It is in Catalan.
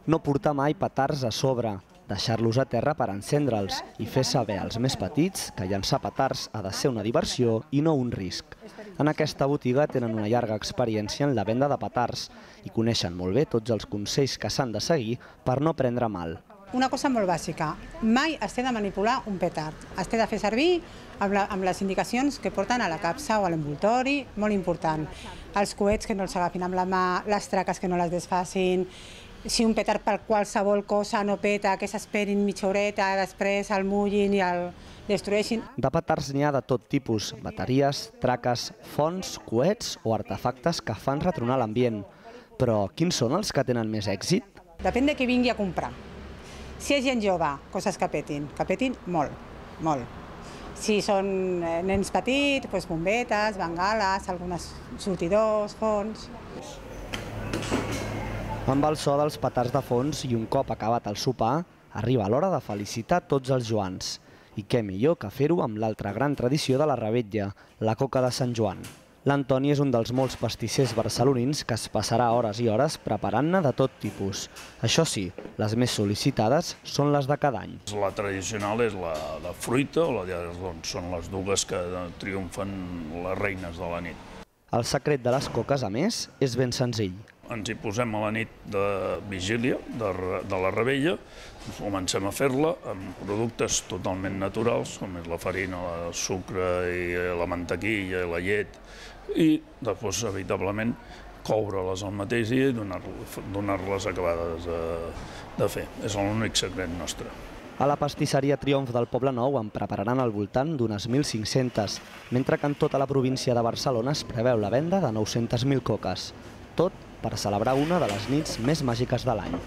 No portar mai petards a sobre, deixar-los a terra per encendre'ls i fer saber als més petits que llançar petards ha de ser una diversió i no un risc. En aquesta botiga tenen una llarga experiència en la venda de petards i coneixen molt bé tots els consells que s'han de seguir per no prendre mal. Una cosa molt bàsica, mai es té de manipular un petard. Es té de fer servir amb les indicacions que porten a la capsa o a l'envoltori, molt important. Els coets que no els agafin amb la mà, les traques que no les desfacin. Si un petard per qualsevol cosa no peta, que s'esperin mitja horeta, després el mullin i el destrueixin. De petards n'hi ha de tot tipus, bateries, traques, fonts, coets o artefactes que fan retronar l'ambient. Però quins són els que tenen més èxit? Depèn de qui vingui a comprar. Si és gent jove, coses que petin molt, molt. Si són nens petits, doncs bombetes, bengales, algunes sortidors, fonts. Amb el so dels petards de fons i un cop acabat el sopar, arriba l'hora de felicitar tots els Joans. I què millor que fer-ho amb l'altra gran tradició de la Revetlla, la coca de Sant Joan. L'Antoni és un dels molts pastissers barcelonins que es passarà hores i hores preparant-ne de tot tipus. Això sí, les més sol·licitades són les de cada any. La tradicional és la de fruita, són les dues que triomfen les reines de la nit. El secret de les coques, a més, és ben senzill. Ens hi posem a la nit de vigília, de la Revetlla, comencem a fer-la amb productes totalment naturals, com és la farina, el sucre, i la mantequilla i la llet, i després, evitablement, coure-les al mateix dia i donar-les acabades de fer. És l'únic secret nostre. A la pastisseria Triomf del Poble Nou en prepararan al voltant d'unes 1.500, mentre que en tota la província de Barcelona es preveu la venda de 900.000 coques. Tot per celebrar una de les nits més màgiques de l'any.